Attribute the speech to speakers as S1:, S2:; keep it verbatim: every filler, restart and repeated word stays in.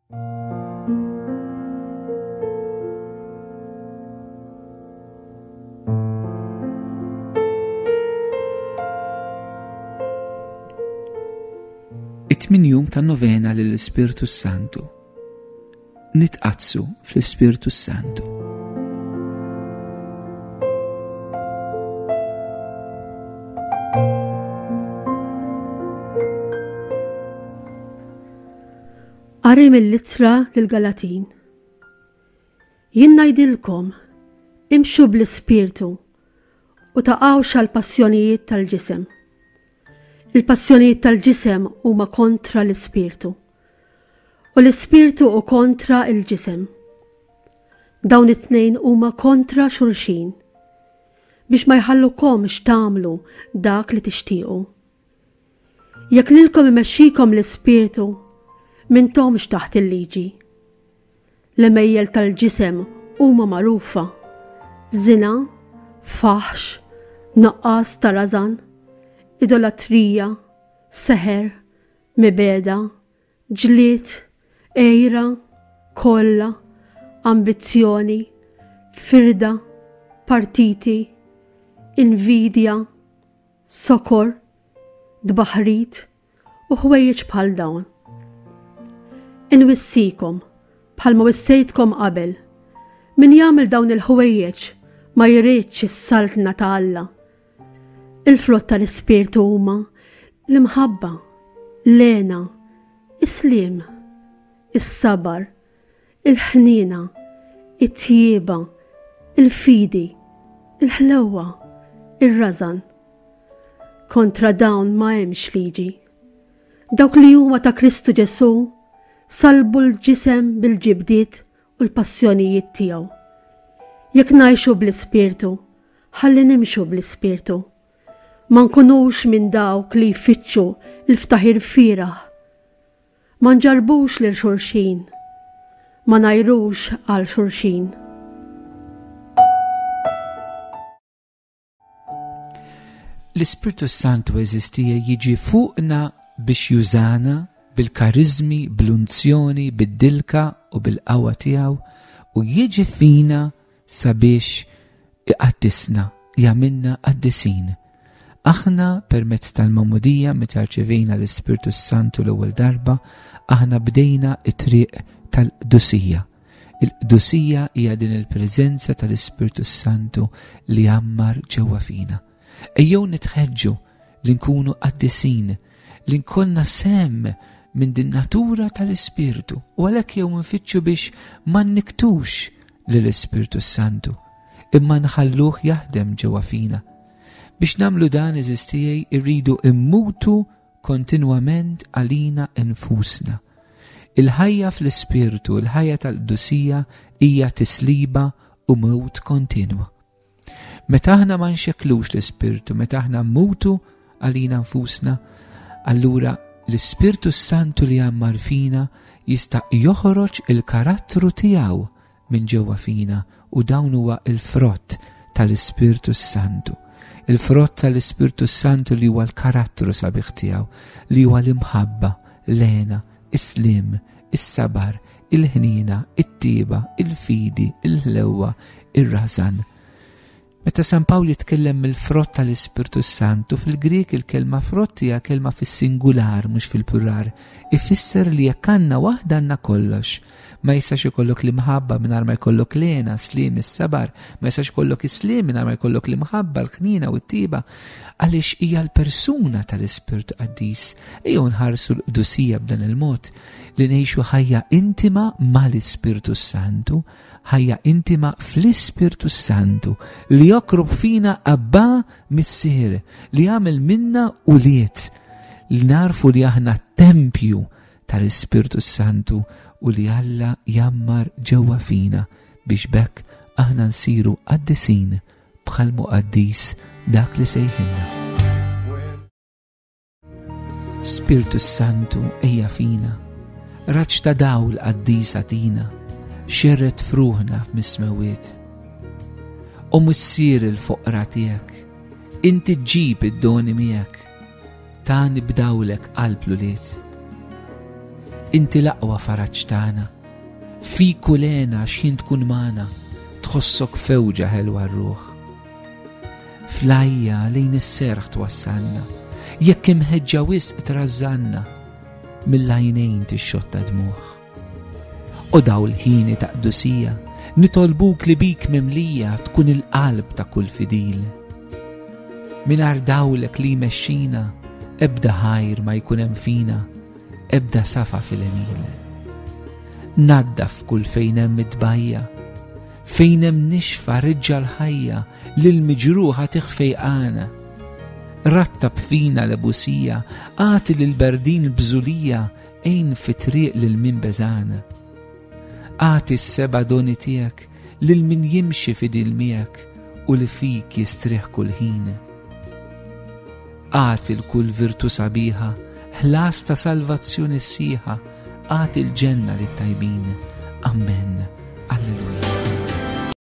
S1: It-tmien jum tan-novena lill-Ispirtu Santu. Nitqaddsu fl-Ispirtu Santu.
S2: Qari mill-ittra lill-Galatin. Jien ngħidilkom, imxu bl-Ispirtu u taqgħux għall-passjonijiet tal-ġisem. Il-passjonijiet tal-ġisem huma kontra l-Ispirtu, u l-Ispirtu hu kontra l-ġisem. Dawn it-tnejn huma kontra xulxin, biex ma jħallukomx tagħmlu dak li tixtiequ. Jekk lilkom imexxikom l-Ispirtu, m'intomx taħt il-liġi. L-għemejjel tal-ġisem huma magħrufa: żina, faħx, nuqqas ta' rażan, idolatrija, seħer, mibegħda, ġlied, għira, kolla, ambizzjoni, firda, partiti, invidja, sokor, tbaħrid u ħwejjeġ bħal dawn. Inwissikom, bħalma wissejtkom qabel, min jagħmel dawn il-ħwejjeġ ma jridx is-saltna ta' Alla. Il-frott tal-Ispirtu huma l-imħabba, l-hena, is-sliem, is-sabar, il-ħniena, it-tjieba, il-fidi, il-ħlewwa, ir-rażan. Kontra dawn ma hemmx liġi. Dawk li huma ta' Kristu Ġesù salbu l-ġisem bil-ġibdiet u l-passjonijiet tiegħu. Jekk ngħixu bl-Ispirtu, ħalli nimxu bl-Ispirtu. Ma nkunux minn dawk li jfittxu l-ftaħir fieragħ. Ma nġarbux lil xulxin, ma ngħajrux għal xulxin.
S1: L-Ispirtu Santu eżistija jiġi fuqna biex jużana bil-karizmi, bl-unzjoni, bid-dilka u bil-qawwa tiegħu u jiġi fina sabiex iqaddisna, jagħmilna qaddisin. Aħna permezz tal-Magħmudija meta rċevejna l-Ispirtu Santu l-ewwel darba, aħna bdejna t-triq tal-qdusija. Il-qdusija hija din il-preżenza tal-Ispirtu Santu li jgħammar ġewwa fina. Ejjew nitħeġġu li nkunu qaddisin, li nkollna sehem minn din natura tal-Ispirtu, u għalhekk jew nfittxu biex ma nniktux lill-Ispirtu Santu, imma nħalluh jaħdem ġewwa fina. Biex nagħmlu dan, eżistijaj, irridu immutu kontinwament għalina infusna. Il-ħajja fl-Ispirtu, il-ħajja tal-qdusija hija tisliba u mewt kontinwa. Meta aħna ma nxekklux l-Ispirtu, meta aħna mmutu għalina nfusna, allura l-Ispirtu Santu li jgħammar fina jista' joħroġ il-karattru tiegħu minn ġewwa fina, u dawn huwa il-frott tal-Ispirtu Santu. Il-frott tal-Ispirtu Santu li huwa l-karattru sabiħ tiegħu, li huwa l-imħabba, l-hena, is-sliem, is-sabar, il-ħniena, it-tieba, il-fidi, il-ħlewwa, ir-rażan. Meta San Pawl jitkellem mill-frott tal-Ispirtu Santu, fil-Grieg il-kelma frott hija kelma fis-singular mhux fil-plural. Ifisser li jekk għandna waħda għandna kollox. Ma jistax ikollok l-imħabba mingħajr ma jkollok l-hena, sliem, is-sabar, ma jistax ikollok is-sliem mingħajr ma jkollok l-imħabba, l-ħniena u t-tieba, għaliex hija l-persuna tal-Ispirtu Qaddis. Ejjew nħarsu l-qdusija b'dan il-mod li ngħixu ħajja intima mal-Ispirtu Santu, ħajja intima fl-Ispirtu Santu li jokrob fina Abba Missier, li jagħmel minna ulied, li narfu li aħna tempju tal-Ispirtu Santu u li Alla jammar ġewwa fina biex bekk aħna nsiru qaddisin bħal muqaddis dak li sejħilna. Spirtu Santu ejja fina, raġġ ta' dawl qaddis għatina, xerred fruħna f'mismewiet. O Missier il-foqra tiegħek, inti ġġib id-doni miegħek, tani b'dawlek qalb l-ulied. Inti l-aqwa faraġ tagħna. Fik u lena x'ħin tkun magħna, tħossok fewġa ħelwa r-ruħ. Flajja lejn is-serħ twassalna, jekk imħeġġa wisq trażżanna, mill-għajnejn tixxotta dmugħ. U daw l-ħini ta' qdusija, nitolbuk li bik mimlija tkun il-qalb ta' kull fidil. Mingħajr dawlek li jmexxina, ebda ħajr ma jkun hemm fina, ebda safa fil-għemil. Naddaf kull fejn hemm it-tbajja, fejn hemm nixfa reġġa' l-ħajja lil miġruħa tiħfejqana. Rattab fina l-ebusija, agħti lil berdin l-bżulija, għin fit-triq lil min beżana. Agħti s-seba' doni tiegħek lil min jimxi fidil miegħek u li fik jistrieħ kull ħin. Agħti l-kull virtu sabiħa, ħlas ta' salvazzjoni sħiħa, agħti l-ġenna lit-tajbin. Amen.